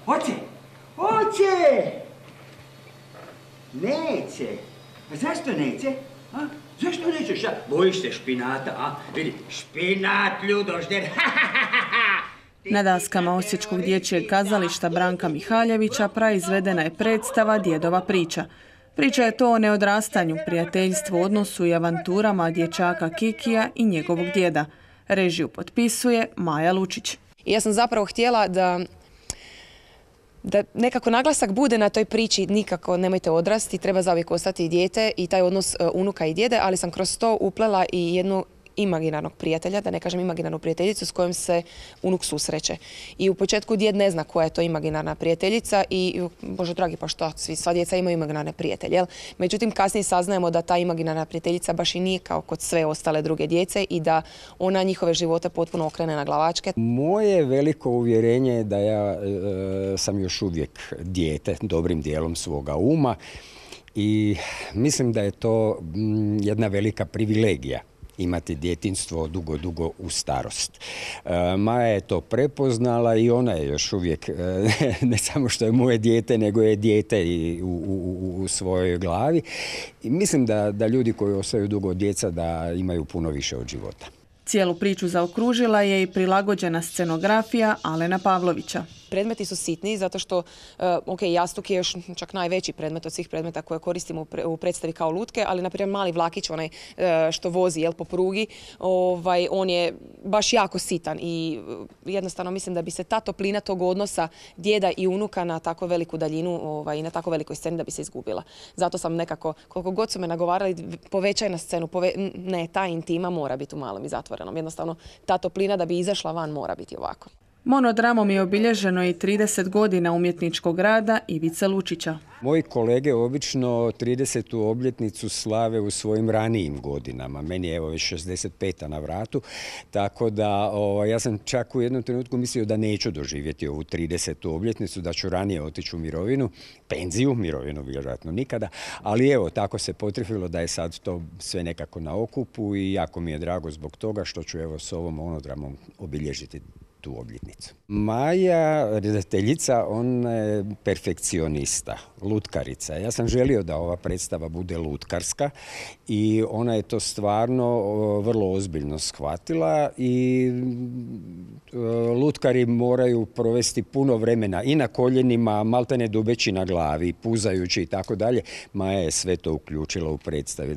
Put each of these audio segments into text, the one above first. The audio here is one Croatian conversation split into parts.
Hoće! Hoće! Neće. A zašto neće? A? Zašto nećeš? Bojiš se špinata, a? Vidi, špinat, ljudožder, Na daskama Osječkog dječjeg kazališta Branka Mihaljevića praizvedena je predstava Djedova priča. Priča je to o neodrastanju, prijateljstvu, odnosu i avanturama dječaka Kikija i njegovog djeda. Režiju potpisuje Maja Lučić. Ja sam zapravo htjela da nekako naglasak bude na toj priči, nikako nemojte odrasti, treba zauvijek ostati i dijete i taj odnos unuka i djede, ali sam kroz to uplela i jednu imaginarnog prijatelja, da ne kažem imaginarnu prijateljicu s kojom se unuk susreće. I u početku djed ne zna koja je to imaginarna prijateljica i, bože dragi, pa što, sva djeca imaju imaginarne prijatelje. Jel? Međutim, kasnije saznajemo da ta imaginarna prijateljica baš i nije kao kod sve ostale druge djece i da ona njihove živote potpuno okrene na glavačke. Moje veliko uvjerenje je da ja sam još uvijek dijete, dobrim dijelom svoga uma i mislim da je to jedna velika privilegija. Imati djetinjstvo dugo u starost. Maja je to prepoznala i ona je još uvijek, ne samo što je moje dijete, nego je dijete i u svojoj glavi. I mislim da ljudi koji ostaju dugo od djeca da imaju puno više od života. Cijelu priču zaokružila je i prilagođena scenografija Alena Pavlovića. Predmeti su sitni zato što, jastuk je još čak najveći predmet od svih predmeta koje koristimo u predstavi kao lutke, ali naprimjer mali vlakić, onaj što vozi po prugi, on je baš jako sitan i jednostavno mislim da bi se ta toplina tog odnosa djeda i unuka na tako veliku daljinu i na tako velikoj sceni da bi se izgubila. Zato sam nekako, koliko god su me nagovarali, povećaj na scenu, ne, ta intima mora biti u malom i zatvorenom. Jednostavno, ta toplina da bi izašla van mora biti ovako. Monodramom je obilježeno i 30 godina umjetničkog rada Ivice Lučića. Moji kolege obično 30. obljetnicu slave u svojim ranijim godinama. Meni je već 65. na vratu, tako da ja sam čak u jednom trenutku mislio da neću doživjeti ovu 30. obljetnicu, da ću ranije otići u mirovinu, penziju, mirovinu vjerojatno nikada, ali evo, tako se potrefilo da je sad to sve nekako na okupu i jako mi je drago zbog toga što ću s ovom monodramom obilježiti tu obljetnicu. Maja, redateljica, ona je perfekcionista, lutkarica. Ja sam želio da ova predstava bude lutkarska i ona je to stvarno vrlo ozbiljno shvatila i lutkari moraju provesti puno vremena i na koljenima, maltene dubeći na glavi, puzajući i tako dalje. Maja je sve to uključila u predstavi.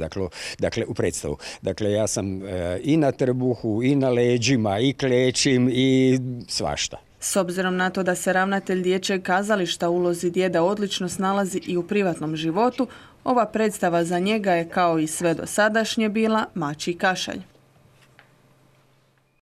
U predstavu. Dakle, ja sam i na trbuhu, i na leđima, i klečim, i svašta. S obzirom na to da se ravnatelj dječjeg kazališta u ulozi djeda odlično snalazi i u privatnom životu, ova predstava za njega je kao i sve dosadašnje bila mačji kašalj.